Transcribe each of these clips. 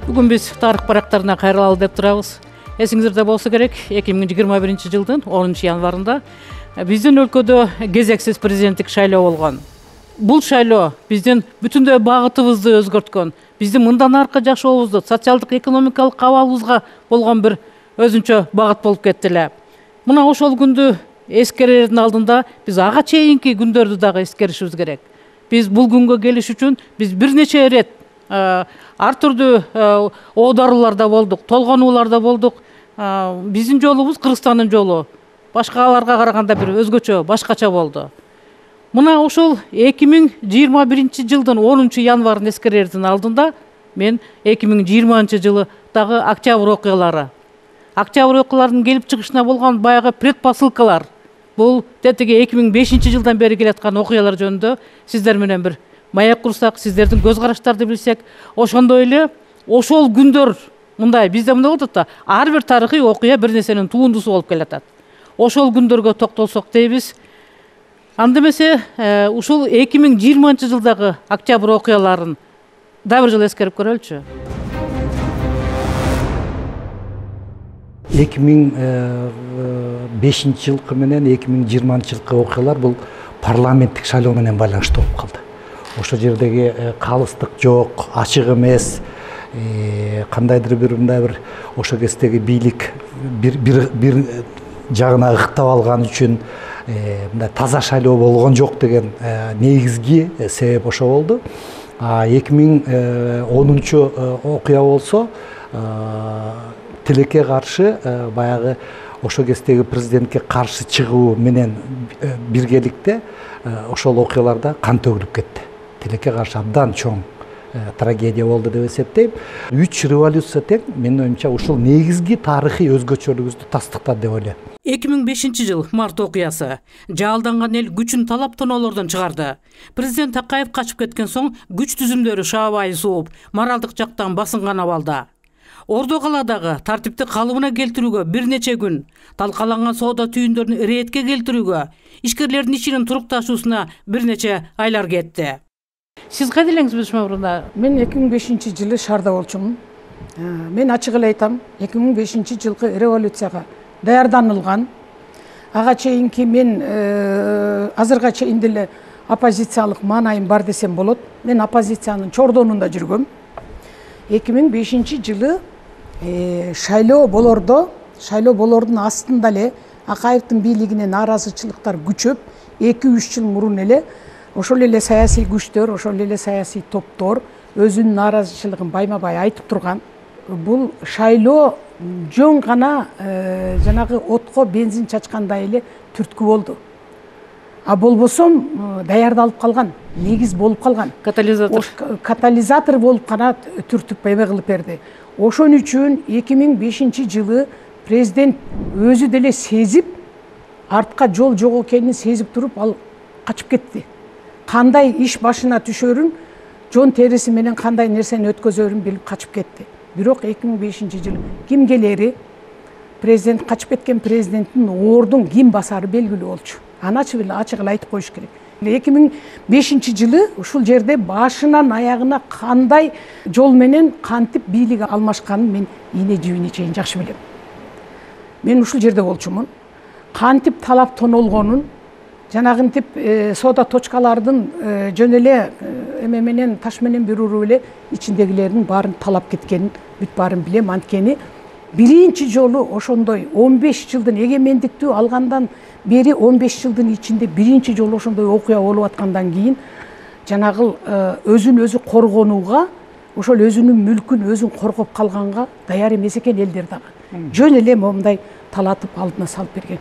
Бүгүн биз тарых барактарына кайрылалы деп турабыз. Эсиңизде болсо керек, 2021-жылдын 10 январында биздин өлкөдө кезексиз президенттик шайлоо болгон. Бул шайлоо биздин бүтүндөй багытыбызды өзгөрткөн, биздин мындан аркы жашообузду, социалдык экономикалык абалыбызга болгон бир өзүнчө багыт болуп кетти эле. Мына ошол күндү эскерердин алдында биз ага чейинки күндөрдү дагы эскеришибиз керек. Биз бул күнгө келиш үчүн биз бир нече ирет ар түрдүү оодарууларда болдук, толгонууларда болдук. Биздин жолубуз Кыргызстандын жолу башкаларга караганда бир өзгөчө, башкача болду. Мына ошол 2021-жылдын 10 январын эскерердин алдында мен 2020-жылы дагы октябрь окуялары, октябрь окуяларынын келип чыгышына болгон баягы предпосылкалар, бул тетиги 2005-жылдан бери келаткан окуялар жөнүндө сиздер менен бир маек курсак, сиздердин көз караштарды билсек, ошондой эле ошол күндөр мындай бизде мындай болот да, ар бир тарыхый окуя бир нерсенин туундусу болуп келатат. Ошол күндөргө токтолсок дейбиз. Анда эмесе ушул 2020-жылдагы октябрь окуяларын да бир жолу эскерип көрөлүчү. 2005-жылкы менен 2020-жылкы окуялар бул парламенттик шайлоо менен байланыштуу болуп калды. Ошо жердеги калыстык жок, ачык эмес, кандайдыр бир ошо кездеги бийлик бир жагына ыктап алган үчүн мындай таза шайлоо болгон жок деген негизги себеп ошо болду. 2010 окуя болсо тилекке каршы баягы ошо кездеги президентке каршы чыгуу менен биргеликте ошол окуяларда кан төгүлүп кетти. Тилекке каршы абдан чоң трагедия болду деп эсептейм. 3 революция тең менин оюмча ушул негизги тарыхый өзгөчөлүгүбүздү тастыктады деп ойлойм. 2005-жыл март окуясы. Жаалданган эл күчүн талап-тоноолордон чыгарды. Президент Акаев качып кеткен соң күч түзүмдөрү шаабай сууп, моралдык жактан басынган абалда. Ордо калаадагы тартипти калыбына келтирүүгө бир нече күн, талкаланган соода түйүндөрүн иретке келтирүүгө, ишкерлердин ишинин турукташуусуна бир нече айлар кетти. Сиз кайда элеңиз мурда? Мен 2005-жылы шаарда болчумун. Мен ачык эле айтам, 2005-жылкы революцияга даярданылган. Ага чейинки мен азырга чейин деле оппозициялык маанайым бар десем болот. Мен оппозициянын чордонунда жүргөм. 2005-жылы шайлоо болордун астында эле Акаевдин бийлигине нааразычылыктар күчөп, 2-3 жыл мурун эле ошол эле саясий күчтөр, ошол эле саясий топтор өзүнүн нааразычылыгын байма-бай айтып турган. Бул шайлоо жөн гана жанагы отко бензин чачкандай эле түрткү болду. А болбосом даярдалып калган, негиз болуп калган. Катализатор болуп гана түртүп эме кылып берди. Ошон үчүн 2005-жылы президент өзү деле сезип, артка жол жок экенин сезип туруп, ал качып кетти. Кандай иш башына түшөрүн, жон териси менен кандай нерсени өткөзөрүн билип качып кетти. Бирок 2005-жылы ким келери, президент качып кеткен президенттин ордун ким басары белгилүү болчу. Аны ачык эле айтып коюш керек. 2005-жылы ушул жерде башынан аягына кандай жол менен кантип бийлик алмашканын мен ийне жибине чейин жакшы билем. Мен ушул жерде болчумун. Кантип талап тонолгонун, жанагынтип соода точкалардын жөн эле эме менен таш менен бир уруп эле ичиндегилердин баарын талап кеткенин бүт баарын билем. Анткени биринчи жолу ошондой 15 жылдын эгемендиктүү алгандан бери 15 жылдын ичинде биринчи жолу ошондой окуя болуп аткандан кийин жанагы өзүн өзү коргонууга, ошол өзүнүн мүлкүн өзүн коргоп калганга даяр эмес экен элдер дагы. Жөн эле момундай талатып алдына салып берген.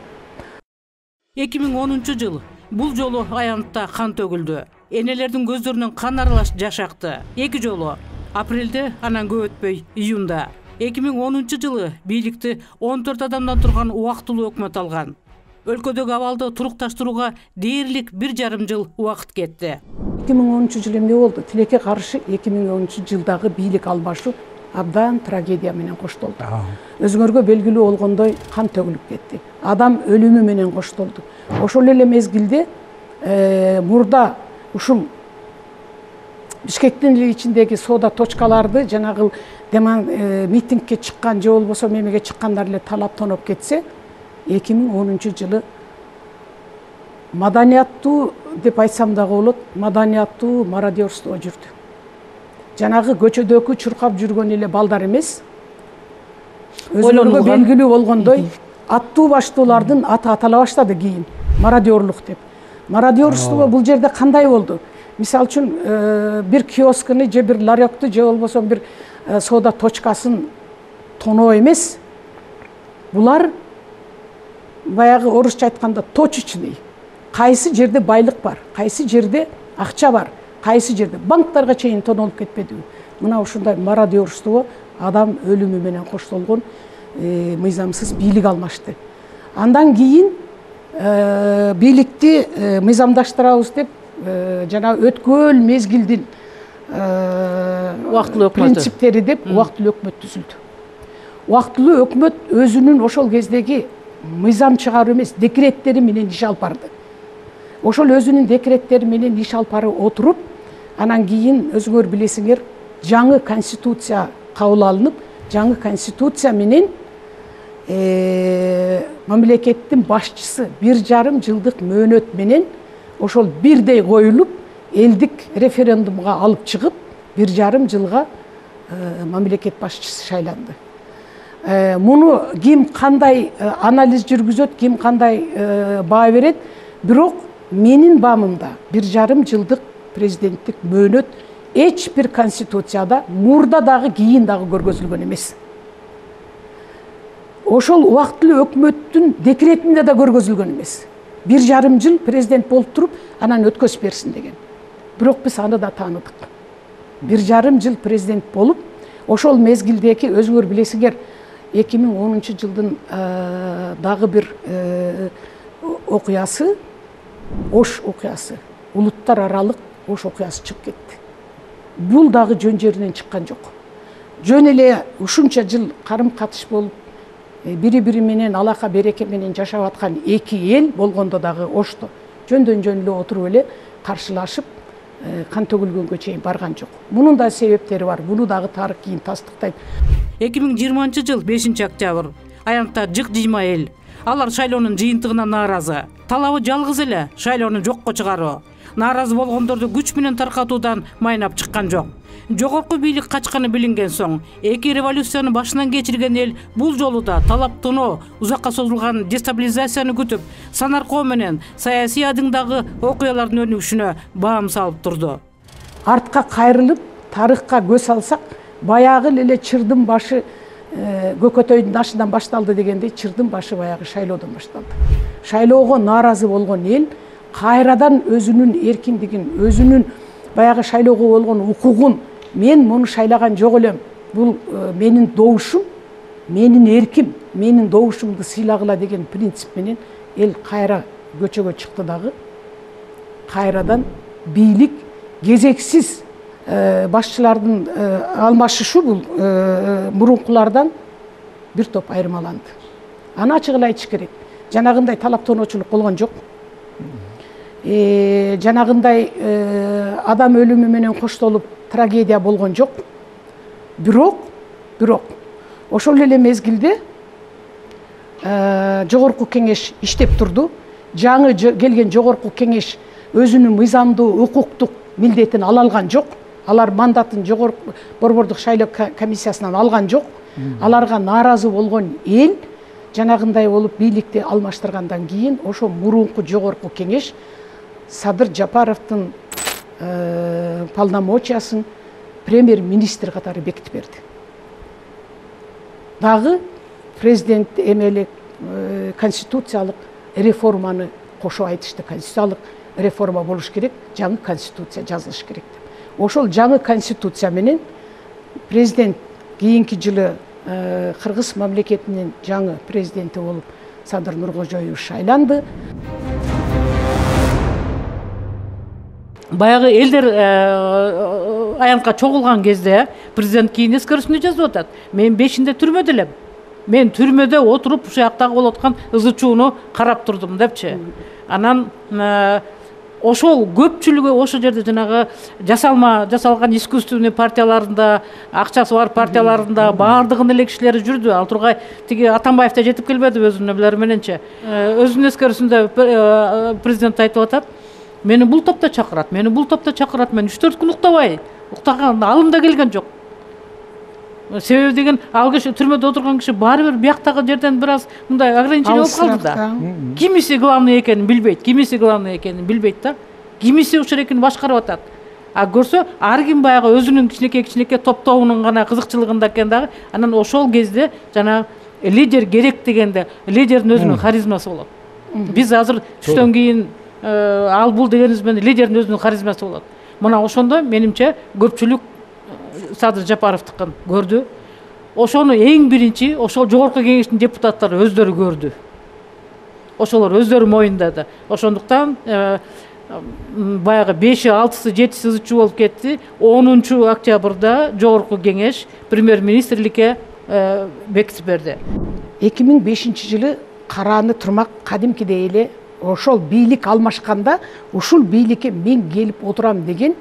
2010-жыл бул жолу аянтта кан төгүлдү. Энелердин көздөрүнөн кан аралаш жаш акты. 2 жолу апрелде, анан көп өтпөй июнда. 2010-жылы бийликти 14 адамдан турган убактылуу өкмөт алган. Өлкөдөгү абалды турукташтырууга дээрлик 1,5 жыл убакыт кетти. 2010-жылы эмне болду? Тилекке каршы 2010-жылдагы бийлик алмашуу абдан трагедия менен коштолду. Өзүңөргө белгилүү болгондой кан төгүлүп кетти. Адам өлүмү менен коштолду. Ошол эле мезгилде мурда ушул Бишкектин ичиндеги соода точкаларды жанагы митингке чыккан же болбосо мемеге чыккандар эле талап тоноп кетсе, 2010-жылы маданияттуу деп айтсам дагы болот, маданияттуу мародерство жүрдү. Жанагы көчөдөгү чуркап жүргөн эле балдар эмес, өзүлөргө белгилүү болгондой аттуу баштуулардын аты атала баштады кийин, мародерлук деп. Мародерство бул жерде кандай болду? Мисалы үчүн бир киоскыны же бир ларёкту же болбосо бир соода точкасын тоноо эмес. Булар баягы орусча айтканда точечный. Кайсы жерде байлык бар, кайсы жерде акча бар, кайсы жерде банктарга чейин тонолуп кетпедиби? Мына ушундай мародерство, адам өлүмү менен коштолгон мыйзамсыз бийлик алмашты. Андан кийин бийликти мыйзамдаштырабыз деп жана өткөн мезгилдин убактылуу өкмөтү принциптери деп убактылуу өкмөт түзүлдү. Убактылуу өкмөт өзүнүн ошол кездеги мыйзам чыгаруу эмес, декреттери менен иш алып барды. Ошол өзүнүн декреттери менен иш алып барып отуруп, анан кийин өзүңөр билесиңер, жаңы конституция кабыл алынып, жаңы конституция менен мамлекеттин башчысы 1,5 жылдык мөөнөт менен ошол бирдей коюлуп, элдик референдумга алып чыгып, 1,5 жылга мамлекет башчысы шайланды. Муну ким кандай анализ жүргүзөт, ким кандай баа берет, бирок менин баамымда 1,5 жылдык президенттик мөөнөт эч бир конституцияда мурда дагы кийин дагы көргөзүлгөн эмес. Ошол убактылуу өкмөттүн декретинде да көргөзүлгөн эмес. 1,5 жыл президент болуп туруп, анан өткөзүп берсин деген. Бирок биз аны да тааныдык. 1,5 жыл президент болуп, ошол мезгилдеги өзүңөр билесиңер, 2010-жылдын дагы бир окуясы, Ош окуясы, улуттар аралык Ош окуясы чыгып кетти. Бул дагы жөн жеринен чыккан жок. Жөн эле ушунча жыл карым-катыш болуп, бири-бири менен алака береке менен жашап аткан эки эл болгондо дагы Ошто жөндөн жөн эле отуруп эле каршылашып, кан төгүлгөнгө чейин барган жок. Мунун да себептери бар. Буну дагы тарых кийин тастыктайт. 2020-жыл 5-октябрь аянтта жык-жыйма эл. Алар шайлоонун жыйынтыгына нааразы. Талабы жалгыз эле шайлоону жокко чыгаруу. Нааразы болгондорду күч менен таркатуудан майнап чыккан жок. Жогорку бийлик качканы билинген соң, эки революцияны башынан кечирген эл бул жолу да талаптоноо, узакка созулган дестабилизацияны күтүп, санаркоо менен саясий адыңдагы окуялардын өнүгүшүнө баам салып турду. Артка кайрылып, тарыхка көз алсак, баягы эле чырдын башы көкөтөйдүн ашынан башталды дегендей, чырдын башы баягы шайлоодон башталды. Шайлоого нааразы болгон эл кайрадан өзүнүн эркиндигин, өзүнүн баягы шайлоого болгон укугун, мен муну шайлаган жок элем, бул менин добушум, менин эрким, менин добушумду сыйлагыла деген принцип менен эл кайра көчөгө чыкты дагы. Кайрадан бийлик кезексиз башчылардын алмашышы бул мурункулардан бир топ айырмаланды. Аны ачык эле айтыш керек. Жанагындай талаптоочулук болгон жок. Жанагындай адам өлүмү менен коштолуп трагедия болгон жок. Бирок ошол эле мезгилде жогорку кеңеш иштеп турду. Жаңы келген жогорку кеңеш өзүнүн мыйзамдуу укуктук милдетин ала алган жок. Алар мандатын жогорку борбордук шайлоо комиссиясынан алган жок. Аларга нааразы болгон эл жанагындай болуп бийликти алмаштыргандан кийин ошо мурунку жогорку кеңеш Садыр Жапаровдун полномочиясын премьер-министр катары бекитип берди. Дагы президент эмелик конституциялык реформаны кошо айтышты. Конституциялык реформа болуш керек, жаңы конституция жазылыш керек деп. Ошол жаңы конституция менен президент кийинки жылы Кыргыз мамлекетинин жаңы президенти болуп Садыр Нуркожоев шайланды. Баягы элдер аянтка чогулган кезде президент кийин эскерүүсүндө жазып атат. Мен 5-inde түрмөдө элем. Мен түрмөдө отуруп ушул жактагы болуп аткан ызы чууну карап турдум депчи. Анан ошол көпчүлүгү ошол жерде жанагы жасалган искусственный партияларында, акчасы бар партияларында баардыгынын эле кишилери жүрдү. Ал тургай тиги Атамбаев да жетип келбеди өзүнүн эмелери мененче. Өзүнүн эскерүүсүндө президент айтып атат: мени бул топто чакырат, мен 3-4 күн уктабай, уктаган алым да келген жок. Себеби деген, ал киши түрмөдө отурган киши баары бир бияктагы жерден бир аз мындай ограничение болуп калды да. Кимиси главный экенин билбейт, да. Кимиси ушул экенин башкарып атат. А көрсө, ар ким баягы өзүнүн кичинекей топтобунун гана кызыкчылыгында экен дагы. Анан ошол кезде жана лидер керек дегенде, лидердин өзүнүн харизмасы болот. Биз азыр түштөн кийин ал бул дегенибиз менен лидердин өзүнүн харизмасы болот. Мына ошондо менимче көпчүлүк Садыр Жапаровдукун көрдү. Ошону эң биринчи ошол жогорку кеңештин депутаттары өздөрү көрдү. Ошолор өздөрү моюндады. Ошондуктан баягы 5-и, 6-сы, 7-си ызычуу болуп кетти. 10-октябрда жогорку кеңеш премьер-министрликке бекитип берди. 2005-жылы карааны турмак кадимкидей эле ошол бийлик алмашканда ушул бийликке мен келип отурам деген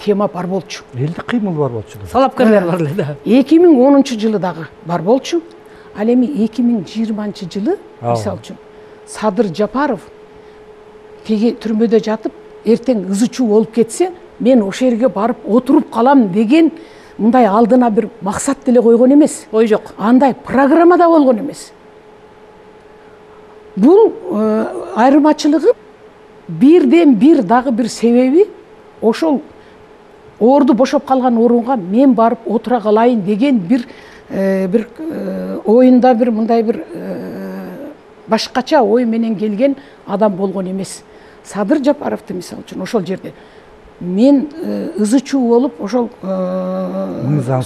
тема бар болчу. Элдик кыймыл бар болчу. Салапкерлер бар эле да. 2010-жылы дагы бар болчу. Ал эми 2020-жылы мисалы үчүн Садыр Жапаров теги түрмөдө жатып, эртең ызычуу болуп кетсе, мен ошол жерге барып отуруп калам деген мындай алдына бир максат деле койгон эмес. Ой жок. Андай программада болгон эмес. Бул айырмачылыгы бирден бир дагы бир себеби ошол орду бошоп калган орунга мен барып отура калайын деген бир оюнда бир мындай бир башкача ой менен келген адам болгон эмес. Садыр Жапаровду мисалы үчүн ошол жерде мен ызычуу болуп ошол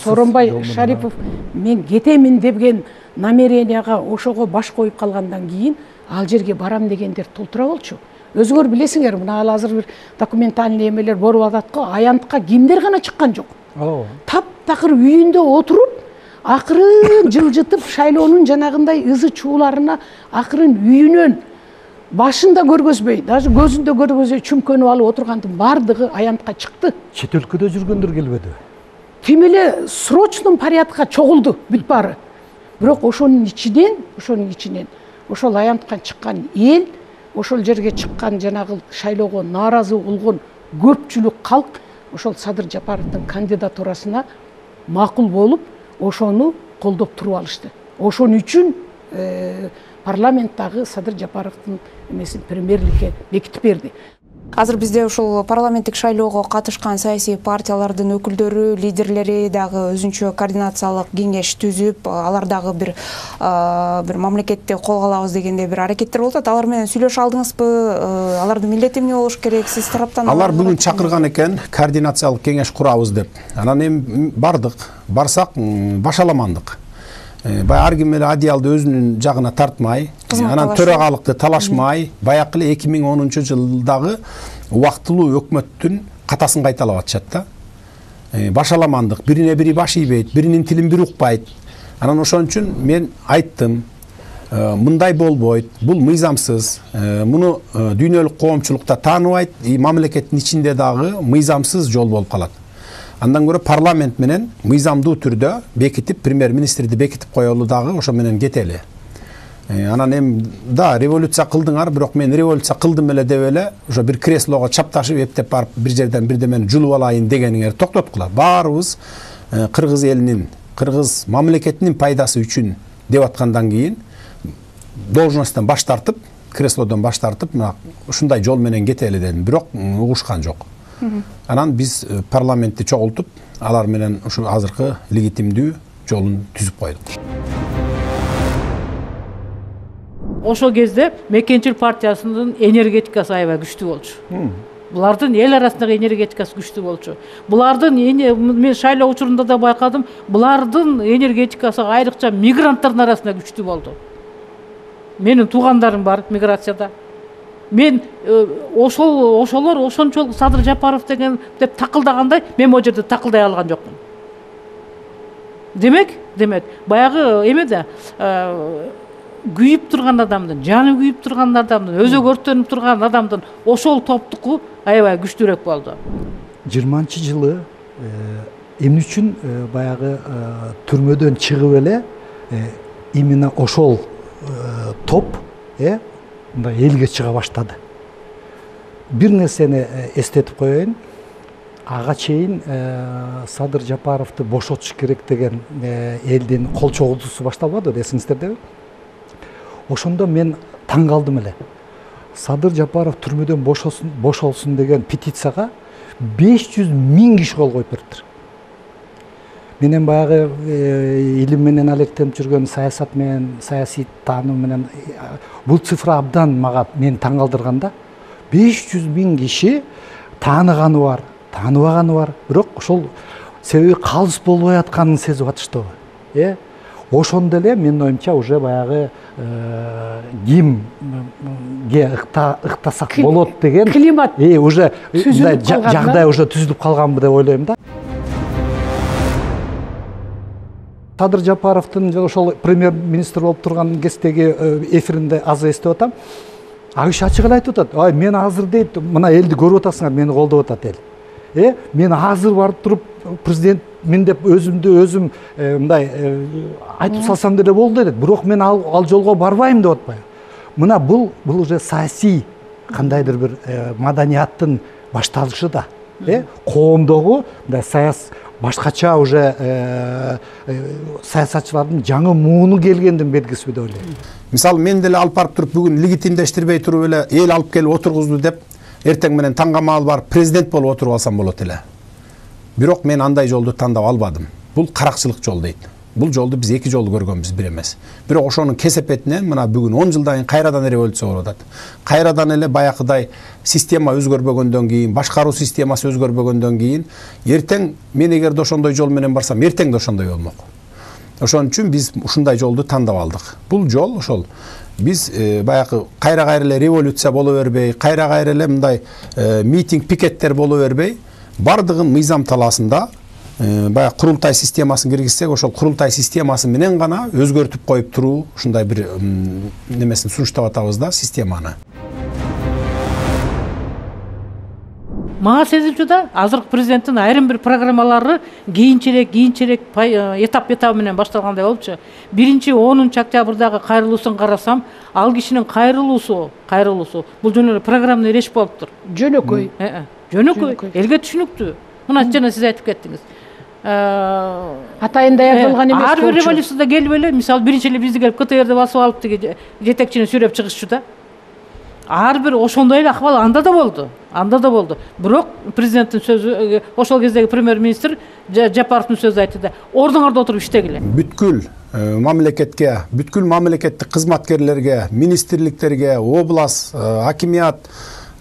Сооронбай Шарипов мен кетемин деген намеренияга ошого баш коюп калгандан кийин ал жерге барам дегендер толтура болчу. Өзүңөр билесиңер, мына азыр бир документальный эмелер болуп атат го, аянтка кимдер гана чыккан жок. Таптакыр үйүндө отуруп, акырын жылжытып шайлоонун жанагындай ызы чууларына акырын үйүнөн башында көргөзбөй, даже көзүндө көргөзбөй чүмкөнүп алып отургандын бардыгы аянтка чыкты. Чет өлкөдө жүргөндөр келбеди. Тим эле срочный порядка чогулду бүт баары. Бирок ошонун ичинен ошол аянтка чыккан эл, ошол жерге чыккан жанагы шайлоого нааразы болгон көпчүлүк калк ошол Садыр Жапаровдун кандидатурасына макул болуп, ошону колдоп туруп алышты. Ошон үчүн парламенттагы Садыр Жапаровдун эмесин премьерликке бекитип берди. Азыр бизде ушул парламенттик шайлоого катышкан саясий партиялардын өкүлдөрү, лидерлери дагы өзүнчө координациялык кеңеш түзүп, алар дагы бир мамлекетти колго алабыз дегенде бир аракеттер болуп атат. Алар менен сүйлөшө алдыңызбы? Алардын милдети эмне болуш керек? Сиз тараптан алар бүгүн чакырган экен, координациялык кеңеш курабыз деп. Анан эми бардык, барсак башаламандык. Ар ким эле одеялды өзүнүн жагына тартмай, анан төрагалыкты талашмай, баягы эле 2010-жылдагы убактылуу өкмөттүн катасын кайталап атышат да. Башаламандык, бирине бири баш ийбейт, биринин тилин бири укпайт. Анан ошон үчүн мен айттым, мындай болбойт, бул мыйзамсыз, муну дүйнөлүк коомчулукта тааныбайт, мамлекеттин ичинде дагы мыйзамсыз жол болуп калат. Андан көрө парламент менен мыйзамдуу түрдө бекитип, премьер-министрди бекитип коелу дагы ошо менен кетели. Анан эми да революция кылдыңар, бирок мен революция кылдым эле деп эле ошо бир креслого чапташып эптеп барып бир жерден бирдемени жулуп алайын дегениңер токтоткула. Баарыбыз кыргыз элинин, кыргыз мамлекетинин пайдасы үчүн деп аткандан кийин должносттон баш тартып, креслодон баш тартып, мына ушундай жол менен кетели дедим, бирок угушкан жок. Анан биз парламентти чогултуп, алар менен ушу азыркы легитимдүү жолун түзүп койдук. Ошол кезде Мекенчил партиясынын энергетикасы аябай күчтүү болчу. Булардын эл арасындагы энергетикасы күчтүү болчу. Булардын мен шайлоо учурунда да байкадым, булардын энергетикасы айрыкча мигранттардын арасында күчтүү болду. Менин туугандарым бар миграцияда. Мен ошолор ошончолук Садыр Жапаров деген деп такылдагандай, мен могу жерде такылдай алган жокмун. Демек, баягы эме да күйүп турган адамдын, жаны күйүп турган адамдын, өзөгү өрттөнүп турган адамдын ошол топтуку аябай күчтүүрөөк болду. 20-жылы эмне үчүн баягы түрмөдөн чыгып эле именно ошол топ мындай элге чыга баштады. Бир нерсени эстетип коеюн. Ага чейин Садыр Жапаровду бошотуш керек деген элдин кол чогултуусу башталбадыбы, эсиңиздердеби? Ошондо мен таң калдым эле. Садыр Жапаров түрмөдөн бошолсун деген петицияга 500 000 киши кол коюп бериптир. Менен баягы илим менен алектенип жүргөн саясат менен, саясий тааным менен бул цифра абдан мага мени таң калтырганда, 500 000 киши тааныганы бар, тааныбаганы бар, бирок ошол себеби калыс болбой атканын сезип атыштыбы. Ошондо эле менин оюмча уже баягы кимге ыктасак болот деген климат уже жагдай уже түзүлүп калганбы деп ойлойм да. Садыр Жапаровдун ошол премьер-министр болуп турган кездеги эфиринде азыр эстеп атам. Ал киши ачык эле айтып атат. Мен азыр дейт, мына элди көрүп атасыңар, мени колдоп атат эл. Мен азыр барып туруп президентмин деп өзүм мындай айтып салсам деле болду дейт. Бирок мен ал жолго барбайм деп атпайбы. Мына бул уже саясий кандайдыр бир маданияттын башталышы да. Коомдогу мындай башкача уже саясатчылардын жаңы мууну келгендин белгиси деп ойлойм. Мисалы мен деле алып барып туруп бүгүн легитимдештирбей туруп эле эл алып келип отургузду деп эртең менен таңга маал барып президент болуп отуруп алсам болот эле. Бирок мен андай жолду тандап албадым. Бул каракчылык жол дейт. Бул жолду биз 2 жолу көргөнбүз, бир эмес. Бирок ошонун кесепетинен мына бүгүн 10 жылдан кийин кайрадан революция болуп атат. Кайрадан эле баякыдай система өзгөрбөгөндөн кийин, башкаруу системасы өзгөрбөгөндөн кийин, эртең мен эгерде ошондой жол менен барсам, эртең да ошондой болмок. Ошон үчүн биз ушундай жолду тандап алдык. Бул жол ошол биз баягы кайра эле революция боло бербей, кайра эле мындай митинг, пикеттер боло бербей, бардыгын мыйзам талаасында баягы курултай системасын киргизсек, ошол курултай системасы менен гана өзгөртүп коюп туруу ушундай бир немесин сунуштап атабыз да, системаны. Мага сезилчү да азыркы президенттин айрым бир программалары кийинчерээк этап менен башталгандай болупчу. 1-10 октябрдагы кайрылуусун карасам, ал кишинин кайрылуусу бул жөн эле программный речь болуптур. Жөнөкөй. Жөнөкөй, элге түшүнүктүү. Мына жана сиз айтып кеттиңиз. Атайын даярдалган эмес. Ар бир революцияда келип эле, мисалы биринчи эле бизди келип КТРди басып алып деги жетекчини сүйрөп чыгышчу да. Ар бир ошондой эле акыбал анда да болду. Бирок президенттин сөзү, ошол кездеги премьер-министр Жапаровдун сөзү айтты да, ордуңарда отуруп иштегиле. Бүткүл мамлекетке, бүткүл мамлекеттик кызматкерлерге, министрликтерге, область, хакимият,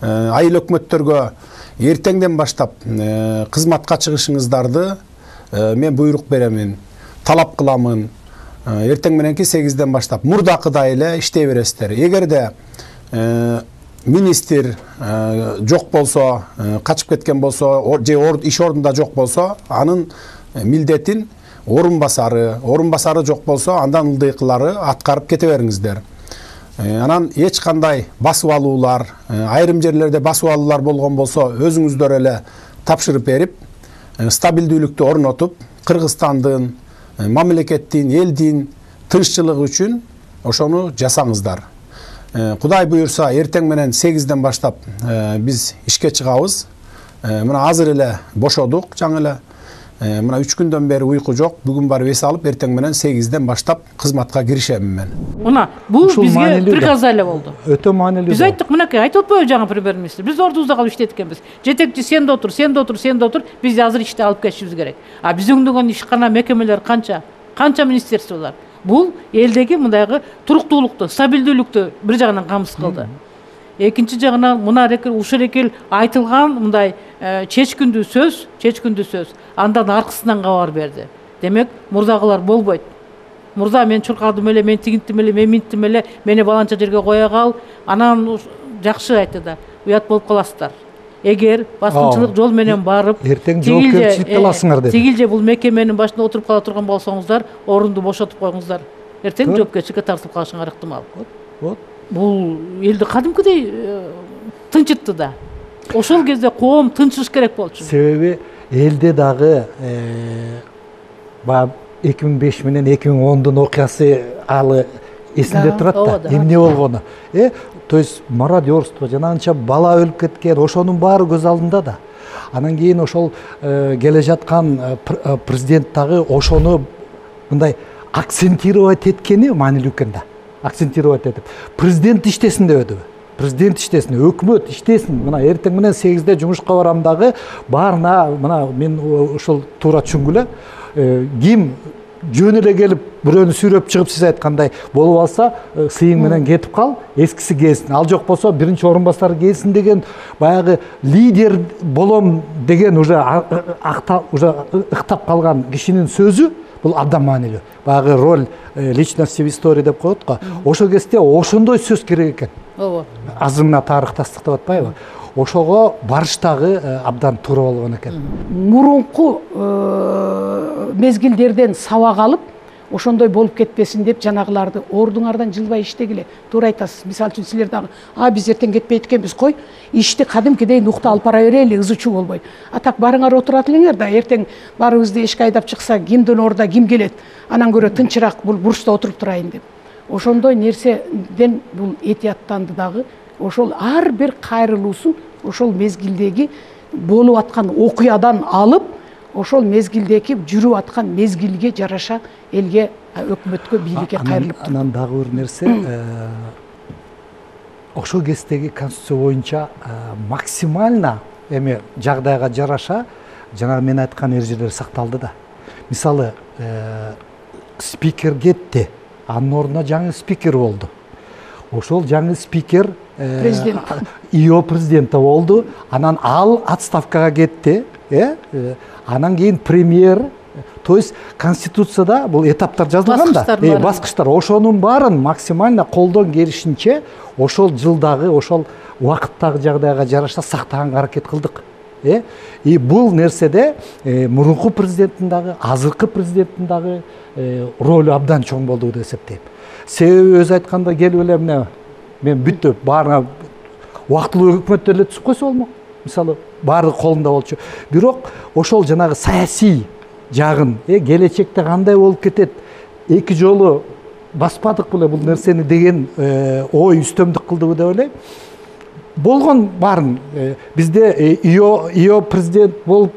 айыл өкмөттөргө эртеңден баштап кызматка чыгышыңыздарды мен буйрук беремин, талап кыламын. Эртең мененки 8-ден баштап мурдакыдай эле иштей бересиздер. Эгерде министр жок болсо, качып кеткен болсо, же иш ордунда жок болсо, анын милдетин орун басары жок болсо, андан ылдыйкылары аткарып кете бериңиздер. Анан эч кандай басып алуулар, айрым жерлерде басып алуулар болгон болсо, өзүңүздөр эле тапшырып берип, стабилдүүлүктү орнотуп, Кыргызстандын, мамлекеттин, элдин тынччылыгы үчүн ошону жасаңыздар. Кудай буйурса, эртең менен 8-ден баштап биз ишке чыгабыз. Мына азыр эле бошодук, жаңы эле. Мына 3 күндөн бери уйку жок. Бүгүн барып эс алып, эртең менен 8-ден баштап кызматка киришемин мен. Мына бул бизге приказ эле болду. Өтө маанилүү. Биз айттык, мынакей айтып атпайбы жаңы премьер-министр? Биз ордубузда калып иштейт экенбиз. Жетекчи сен да отур. Биз азыр ишти алып кетишибиз керек. А биз өңдөгөн ишкана мекемелер канча министерстволор. Бул элдеги мындайгы туруктуулукту, стабилдүүлүктү бир жагынан камсыз кылды. Экинчи жагынан мына ушул экил айтылган мындай чечкиндүү сөз андан аркысынан кабар берди. Демек, мурдагылар болбойт. Мурда мен чуркадым эле, мен тигинтим эле, мен минттим эле, мени баланча жерге кое кал. Анан жакшы айтты да, уят болуп каласыздар. Эгер баскынчылык жол менен барып, эртең жоопкерчиликти аласыңар деп. Тигилже бул мекеменин башында отуруп кала турган болсоңуздар, орунду бошотуп коюңуздар. эртең жоопкерчиликке тартылып калышыңар ыктымал. Вот. Бул элди кадимкидей тынчытты да. Ошол кезде коом тынчыш керек болчу. Себеби элде дагы баягы 2005 менен 2010дун окуясы алы эсинде турат да, эмне болгону. То есть мародерство, жанагынча бала өлүп кеткен, ошонун баары көз алдында да. Анан кийин ошол келе жаткан президент дагы ошону мындай акцентировать эткени маанилүү экен да. Акцентировать этип, президент иштесин дебедиби? Президент иштесин, өкмөт иштесин. Мына эртең менен 8-де жумушка барам дагы, баарына мына мен ошол туура түшүнгүлө, ким жөн эле келип бирөөнү сүйрөп чыгып сиз айткандай болуп алса, сыйың менен кетип кал, эскиси келсин. Ал жок болсо биринчи орун басары келсин деген баягы лидер болом деген уже ыктап калган кишинин сөзү бул абдан маанилүү. Баягы роль личности в истории деп коет го. Ошол кезде ошондой сөз керек экен. Ооба. Азыр мына тарыхтастык деп атпайбы? Ошого барыштагы абдан туура болгон экен. Мурунку мезгилдерден сабак алып, ошондой болуп кетпесин деп жанагыларды ордуңардан жылбай иштегиле. Туура айтасыз. Мисалы үчүн силер дагы, биз эртең кетпейт экенбиз, кой, ишти кадимкидей нукта алып бара берели, ызычуу болбой. Так барыңар отурат элеңер да, эртең баарыбызды эшикке айдап чыкса, кимдин ордуна ким келет, анан көрө тынчыраак бул бурчта отуруп турайын деп. Ошондой нерседен бул этияттанды дагы. Ошол ар бир кайрылуусун ошол мезгилдеги болуп аткан окуядан алып, ошол мезгилдеги жүрүп аткан мезгилге жараша элге, өкмөткө, бийликке кайрылып туруп. Анан дагы бир нерсе, ошол кездеги конституция боюнча максимально эми жагдайга жараша жана мен айткан эрежелер сакталды да. Мисалы, спикер кетти, анын ордуна жаңы спикер болду. Ошол жаңы спикер ИО президенти болду. Анан ал отставкага кетти. Анан кийин премьер. То есть конституцияда бул этаптар жазылган да. Баскычтар. Ошонун баарын максимально колдон келишинче ошол жылдагы, ошол убакыттагы жагдайга жараша сактаганга аракет кылдык. И бул нерседе мурунку президенттин дагы, азыркы президенттин дагы ролу абдан чоң болду деп эсептейм. Себеби өзү айтканда келип эле эмне мен бүттүп баарына убактылуу өкмөт эле түзүп койсо болмок. Мисалы баары колунда болчу. Бирок ошол жанагы саясий жагын, келечекте кандай болуп кетет, эки жолу баспадык беле бул нерсени деген ой үстөмдүк кылдыбы деп ойлойм. Болгон баарын бизде ИО президент болуп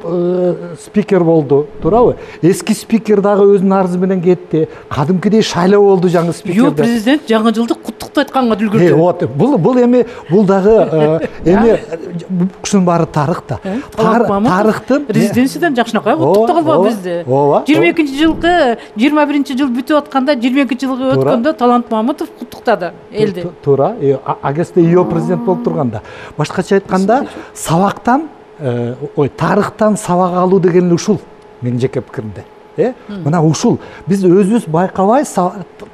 спикер болду, туурабы? Эски спикер дагы өзүнүн арызы менен кетти. Кадимкидей шайлоо болду жаңы спикер. ИО президент жаңы жылды куттуктап айтканга үлгүрдү. Вот, бул эми бул дагы эми ушунун баары тарых да. Тарыхтын резиденциядан жакшынакай куттуктап калбабы бизди. 22-жылкы 21-жыл бүтүп атканда 22-жылгы өткөндө Талант Мамытов куттуктады элди. Туура. А кезде ИО президент болуп турган. Башкача айтканда, сабактан, тарыхтан сабак алуу деген ушул менин жеке пикиримде. Мына ушул биз өзүбүз байкабай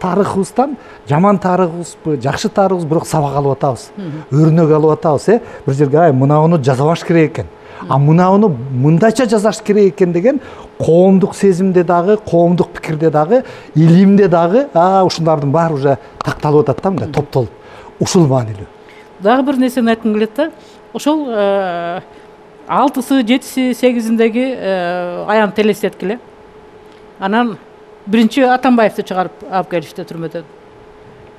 тарыхыбыздан жаман тарыхыбызбы, жакшы тарыхыбыз, бирок сабак алып атабыз. Өрнөк алып атабыз, бир жерге мынауну жазабаш керек экен. А мынауну мындайча жазаш керек экен деген коомдук сезимде дагы, коомдук пикирде дагы, илимде дагы, ушундардын баары уже такталып атат да, мындай топтолуп. Ушул маанилүү. Дагы бир нерсени айткым келет да. Ошол 6-сы, 7-си, 8-индеги аян телестеткиле. Анан биринчи Атамбаевди чыгарып алып келишти түрмөдөн.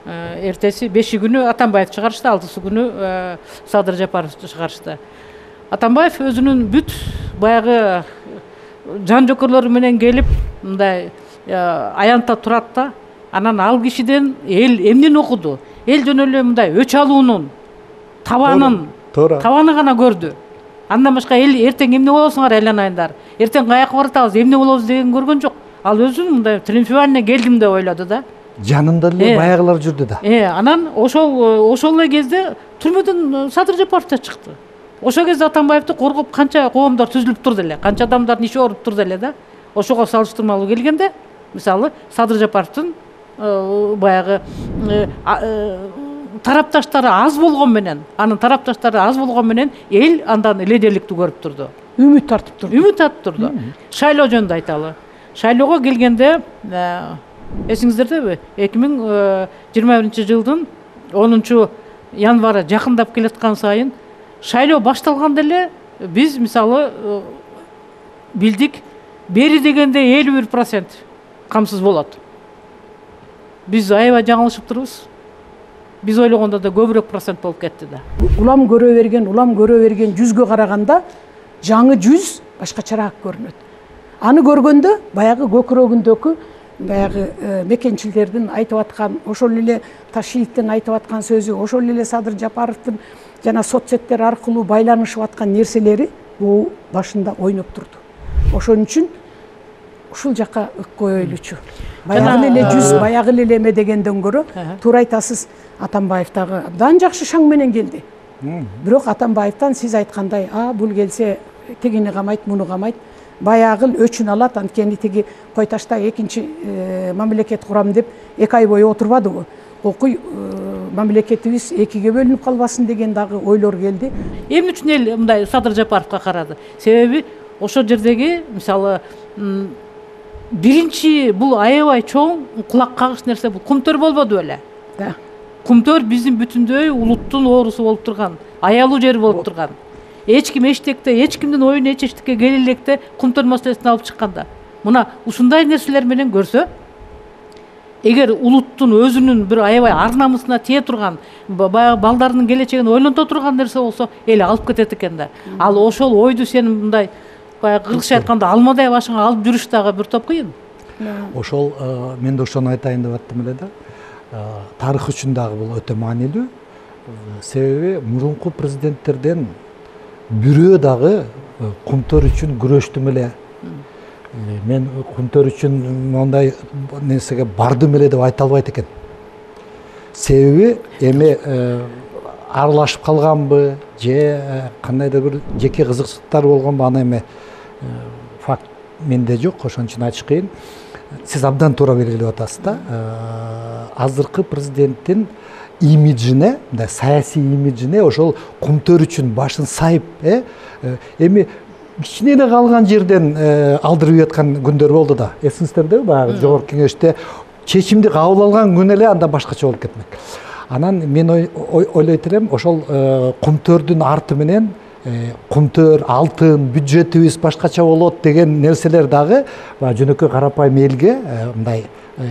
Эртеси 5 күнү Атамбаев чыгарышты, 6-сы күнү Садыр Жапаровду чыгарышты. Атамбаев өзүнүн бүт баягы жан жокерлору менен келип, мындай аянтта турат да. Анан ал кишиден эл эмнени окуду? Эл жөн эле мындай өч алуунун табаны гана көрдү. Андан башка эл эртең эмне болосуңар айланайындар, эртең каяка баратабыз, эмне болобуз деген көргөн жок. Ал өзүн мындай триумфально келдим деп ойлоду да. Жанында эле баягылар жүрдү да. Анан ошол эле кезде түрмөдөн Садыр Жапаров да чыкты. Ошол кезде Атамбаевди коргоп канча коомдор түзүлүп турду эле, канча адамдардын иши ооруп турду эле да. Ошого салыштырмалуу келгенде, мисалы, Садыр Жапаровдун баягы тарапташтары аз болгон менен, анын тарапташтары аз болгон менен эл андан лидерликти көрүп турду. Үмүт тартып турду. Шайлоо жөнүндө айталы. Шайлоого келгенде Эсиңиздердеби? 2021 жылдын 10 январы жакындап келаткан сайын шайлоо башталганда эле биз мисалы билдик, бери дегенде 51% камсыз болот. Биз аябай жаңылышып турбуз. Биз ойлогондо да көбүрөөк процент болуп кетти да. Улам көрө берген жүзгө караганда жаңы жүз башкачараак көрүнөт. Аны көргөндө баягы көкүрөгүндөгү баягы мекенчилердин айтып аткан, ошол эле Ташиевдин айтып аткан сөзү, ошол эле Садыр Жапаровдун жана соцсеттер аркылуу байланышып аткан нерселери бул башында ойноп турду. Ошон үчүн ушул жака ык коелучу. Баягы эле жүз, баягы эле эме дегенден көрө, туура айтасыз, Атамбаев дагы абдан жакшы шаң менен келди. Бирок Атамбаевтан сиз айткандай, бул келсе тигини камайт, муну камайт, баягы өчүн алат, анткени тиги Кой Ташта экинчи мамлекет курам деп 2 ай бою отурбадыбы. Окуй мамлекетибиз экиге бөлүнүп калбасын деген дагы ойлор келди. Эмне үчүн эл мындай Садыр Жапаровго карады? Себеби ошол жердеги мисалы биринчи бул аябай чоң кулак кагыш нерсе бул Кумтөр болбоду беле? Да. Кумтөр биздин бүтүндөй улуттун оорусу болуп турган, аялуу жери болуп турган. Эч ким эчтекте, эч кимдин оюн эч эчтекке келе электе Кумтөр маселесин алып чыкканда. Мына ушундай нерселер менен көрсө, эгер улуттун өзүнүн бир аябай ар намысына тие турган, баягы балдарынын келечегин ойлонто турган нерсе болсо, эл алып кетет экен да. Ал ошол ойду сен мындай баягы кыргызча айтканда алмадай башыңа алып жүрүш дагы бир топ кыйын. Ошол мен да ошону айтайын деп аттым эле да. Тарых үчүн дагы бул өтө маанилүү. Себеби мурунку президенттерден бирөө дагы Кумтөр үчүн күрөштүм эле. Мен Кумтөр үчүн мондай нерсеге бардым эле деп айта албайт экен. Себеби эми аралашып калганбы, же кандайдыр бир жеке кызыкчылыктар болгонбу, аны эми факт менде жок, ошон үчүн айтыш кыйын. Сиз абдан туура белгилеп атасыз да. Азыркы президенттин имиджине, мындай саясий имиджине ошол Кумтөр үчүн башын сайып, эми кичине калган жерден алдырып жаткан күндөр болду да. Эсиңиздердеби? Баягы жогорку кеңеште чечимди кабыл алган күн эле анда башкача болуп кетмек. Анан мен ойлойт элем, ошол Кумтөрдүн арты менен Кумтөр, алтын, бюджетибиз башкача болот деген нерселер дагы жөнөкөй карапайым элге мындай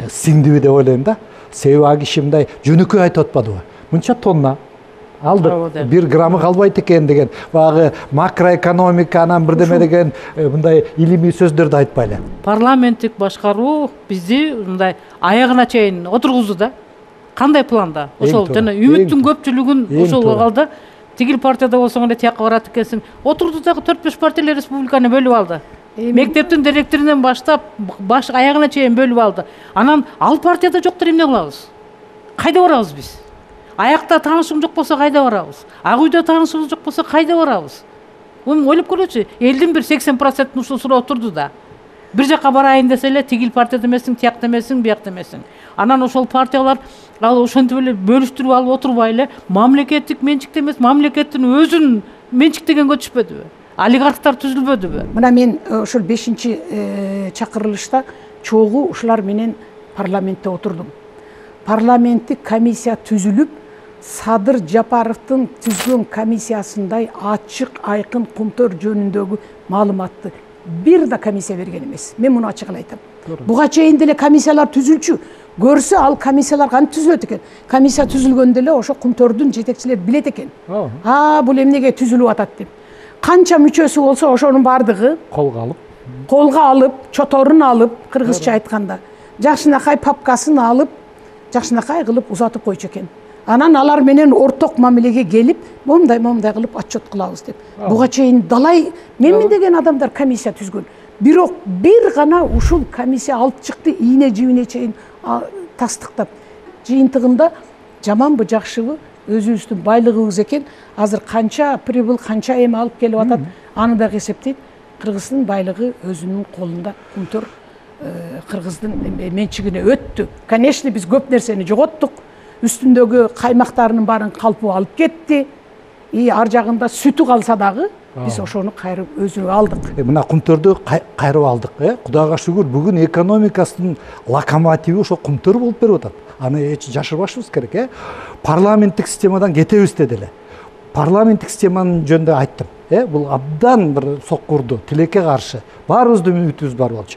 сиңдиби деп ойлойм да. Себеби ал киши мындай жөнөкөй айтып атпадыбы? Мынча тонна алдык, 1 граммы калбайт экен деген, баягы макроэкономика анан бирдеме деген мындай илимий сөздөрдү айтпайлы. Парламенттик башкаруу бизди мындай аягына чейин отургузду да. Кандай планда? Ошол жана үмүттүн көпчүлүгүн ошол алды. Тигил партияда болсоң эле тияка барат экенсиң. Отурду дагы 4-5 партиялар республиканы бөлүп алды. Мектептин директорунан баштап баш аягына чейин бөлүп алды. Анан ал партияда жоктор эмне кылабыз? Кайда барабыз биз? Аякта таанышың жок болсо кайда барабыз? Ак үйдө таанышыңыз жок болсо кайда барабыз? Ойлоп көрөчү. Элдин бир 80% ушул суроо отурду да. Бир жака барайын десе эле тигил партияда эмесиң, тиякта эмесиң, биякта эмесиң. Анан ошол партиялар ал ошентип эле бөлүштүрүп алып отурбай эле мамлекеттик менчикте эмес, мамлекеттин өзүн менчиктегенге түшпөдүбү? Олигархтар түзүлбөдүбү? Мына мен ошол 5-чи чакырылышта чогуу ушулар менен парламентте отурдум. Парламенттик комиссия түзүлүп, Садыр Жапаровдун түзгөн комиссиясындай ачык, айкын Кумтөр жөнүндөгү маалыматты бир да комиссия берген эмес. Мен муну ачык айтам. Буга чейин деле комиссиялар түзүлчү. Көрсө ал комиссиялар кантип түзүлөт экен? Комиссия түзүлгөндө эле ошо Кумтөрдүн жетекчилери билет экен. Бул эмнеге түзүлүп атат деп. Канча мүчөсү болсо ошонун бардыгы колго алып, чоторун алып, кыргызча айтканда, жакшынакай папкасын алып, жакшынакай кылып узатып койчу экен. Анан алар менен орток мамилеге келип, момундай кылып отчет кылабыз деп. Буга чейин далай менмин деген адамдар комиссия түзгөн. Бирок бир гана ушул комиссия алып чыкты, ийне жибине чейин тастыктап. Жыйынтыгында жаманбы, жакшыбы, өзүбүздүн байлыгыбыз экен. Азыр канча прибыл, канча эме алып келип атат, аны да эсептейт. Кыргыздын байлыгы өзүнүн колунда. Кумтөр кыргыздын менчигине өттү. Конечно, биз көп нерсени жоготтук. Үстүндөгү каймактарынын баарын калпы алып кетти. Ар жагында сүтү калса дагы, биз ошону кайрып өзүбүз алдык. Мына Кумтөрдү кайрып алдык. Кудайга шүгүр, бүгүн экономикасынын локомотиви ошо Кумтөр болуп берип атат. Аны эч жашырбашыбыз керек. Парламенттик системадан кетебиз деди эле. Парламенттик системанын жөнүндө айттым. Бул абдан бир соккурду, тилекке каршы. Баарыбыздын үмүтүбүз бар болчу.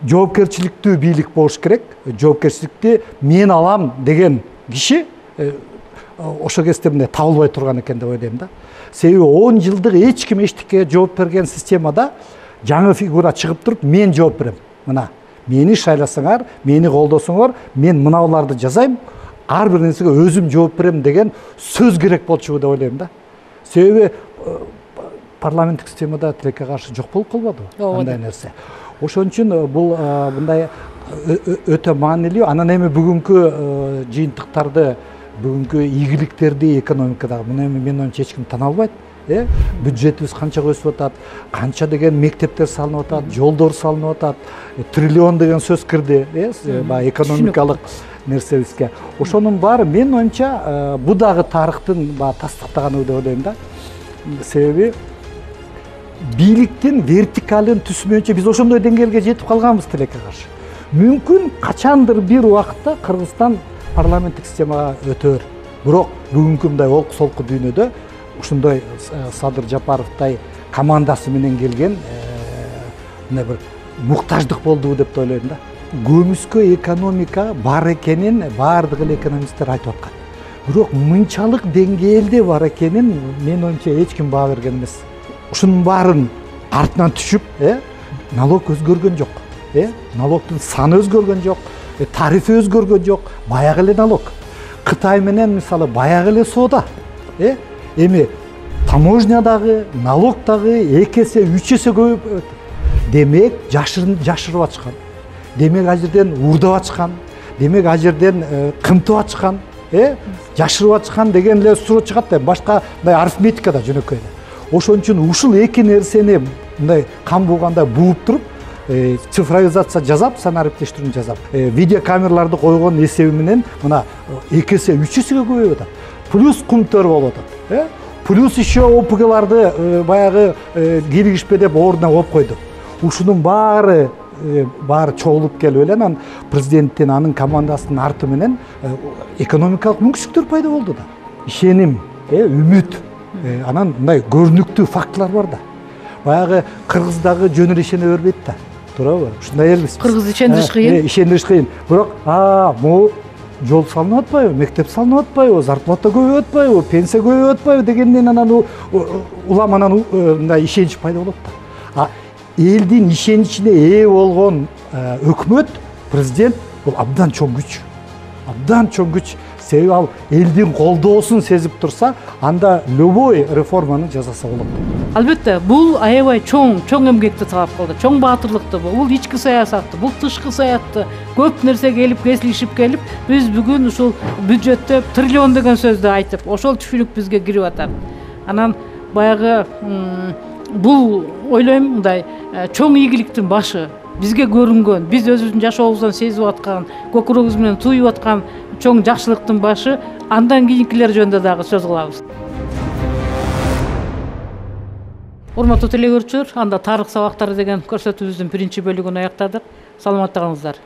Жоопкерчиликтүү бийлик болуш керек. Жоопкерчиликти мен алам деген киши ошол кезде мындай табылбай турган экен деп ойлойм да. Себеби 10 жылдык эч ким эчтикке жооп берген системада жаңы фигура чыгып туруп мен жооп берем. Мына мени шайласаңар, мени колдосоңор, мен мыналарды жазайм, ар бир нерсеге өзүм жооп берем деген сөз керек болчу деп ойлойм да. Себеби парламенттик системада тилекке каршы жок болуп калбады андай нерсе. Ошон үчүн бул мындай өтө маанилүү. Анан эми бүгүнкү жыйынтыктарды, бүгүнкү ийгиликтерди экономикадагы муну мен оюмча эч ким тана албайт. Бюджетибиз канча өсүп атат, канча деген мектептер салынып атат, жолдор салынып атат, триллион деген сөз кирди, баягы экономикалык нерсебизге. Ошонун баары мен оюмча бул дагы тарыхтын тастыктаганы деп ойлойм да. Себеби бийликтин вертикалын түзмөйүнчө биз ошондой деңгээлге жетип калганбыз тилекке каршы. Мүмкүн качандыр бир убакытта Кыргызстан парламенттик системага өтөр. Бирок бүгүнкү мындай олку солку дүйнөдө ушундай Садыр Жапаровдай командасы менен келген мындай бир муктаждык болдубу деп ойлойм да. Көмүскө экономика бар экенин баардык эле экономисттер айтып аткан. Бирок мынчалык деңгээлде бар экенин мен оюмча эч ким баа берген эмес. Ушунун баарын артынан түшүп, налог өзгөргөн жок. Налогдун саны өзгөргөн жок, тарифи өзгөргөн жок, баягы эле налог. Кытай менен мисалы баягы эле соода. Эми таможнядагы, налогдагы 2 эсе, 3 эсе көбөйүп, демек жашырып ачкан. Демек ал жерден уурдап ачкан. Демек ал жерден кымтып ачкан, жашырып ачкан деген эле суроо чыгат да. Башка мындай арифметикада жөнөкөй эле. Ошон үчүн ушул эки нерсени мындай кам болгондой бууп туруп, цифровизация жасап, санариптештирүүнү жасап, видеокамераларды койгон эсеби менен мына 2 эсе, 3 эсеге көбөйүп атат. Плюс Кумтөр болуп атат. Плюс еще ОПГларды баягы киргишпе деп ордуна коюп койду. Ушунун баары чогулуп келип эле анан президенттин анын командасынын арты менен экономикалык мүмкүнчүлүктөр пайда болду да. Ишеним, үмүт, анан мындай көрүнүктүү фактылар бар да. Баягы Кыргыздагы жөн эле ишене бербейт да. Туурабы? Ушундай элбиз. Кыргыз ишендириш кыйын. Ишендириш кыйын. Бирок могу жол салынып атпайбы, мектеп салынып атпайбы, зарплата көбөйүп атпайбы, пенсия көбөйүп атпайбы дегенден анан улам анан мындай ишенич пайда болот да. Элдин ишеничине ээ болгон өкмөт, президент бул абдан чоң күч. Абдан чоң күч. Себеби ал элдин колдоосун сезип турса, анда любой реформаны жасаса болот. Албетте, бул аябай чоң эмгекти талап кылды, чоң баатырлыкты бул ички саясатты, бул тышкы саятты, көп нерсеге келип кесилишип келип, биз бүгүн ушул бюджетте триллион деген сөздү айтып, ошол түшүнүк бизге кирип атат. Анан баягы бул ойлойм мындай чоң ийгиликтин башы. Бизге көрүнгөн, биз өзүбүздүн жашообуздан сезип аткан, көкүрөгүбүз менен туюп аткан чоң жакшылыктын башы, андан кийинкилер жөнүндө дагы сөз кылабыз. Урматтуу телекөрүүчүлөр, анда тарых сабактары деген көрсөтүүбүздүн биринчи бөлүгүн аяктадык. Саламатта калыңыздар.